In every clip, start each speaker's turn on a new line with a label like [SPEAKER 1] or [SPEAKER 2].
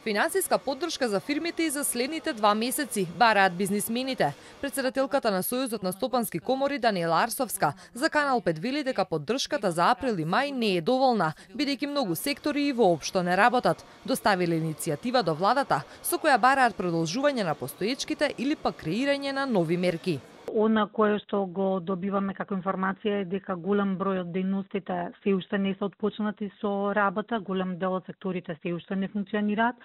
[SPEAKER 1] Финансиска поддршка за фирмите и за следните 2 месеци, бараат бизнисмените. Председателката на Сојузот на стопански комори Даниела Арсовска за Канал 5 вели дека поддршката за април и мај не е доволна, бидејќи многу сектори и воопшто не работат. Доставиле иницијатива до владата со која бараат продолжување на постоечките или пак креирање на нови мерки.
[SPEAKER 2] Она кое што го добиваме како информација е дека голем број од дејностите се уште не се отпочнати со работа, голем дел од секторите се уште не функционираат,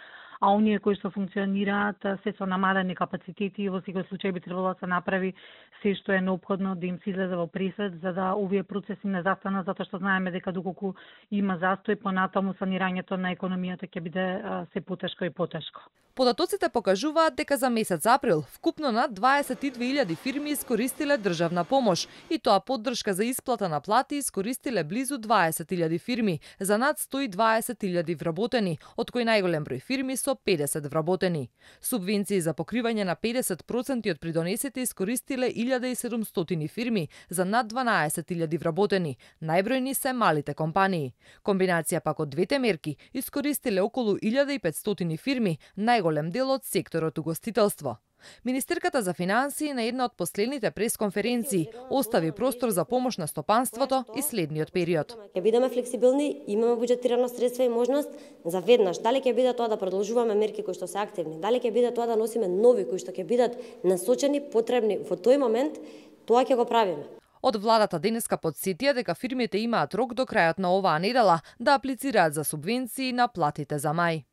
[SPEAKER 2] а оние кои што функционираат се со намалени капацитети и во секој случај би требало да се направи се што е неопходно да им се излезе во пресвет за да овие процеси не застанат, затоа што знаеме дека доколку има застој понатаму санирањето на економијата ќе биде се потешко и потешко.
[SPEAKER 1] Податоците покажуваат дека за месец април вкупно над 22.000 фирми искористиле државна помош и тоа поддршка за исплата на плати искористиле близу 20.000 фирми за над 120.000 вработени, од кои најголем број фирми со 50 вработени. Субвенции за покривање на 50% од придонесите искористиле 1700 фирми за над 12.000 вработени. Најбројни се малите компании. Комбинација пак од двете мерки искористиле околу 1500 фирми, најголем дел од секторот угостителство. Министерката за финансии на една од последните пресконференции остави простор за помош на стопанството и следниот период.
[SPEAKER 3] Ќе бидеме флексибилни, имаме буџетирано средства и можност за веднаш. Дали ќе биде тоа да продолжуваме мерки кои што се активни, дали ќе биде тоа да носиме нови кои што ќе бидат насочени, потребни во тој момент, тоа ќе го правиме.
[SPEAKER 1] Од владата денеска подсетија дека фирмите имаат рок до крајот на оваа недела да аплицираат за субвенции на платите за мај.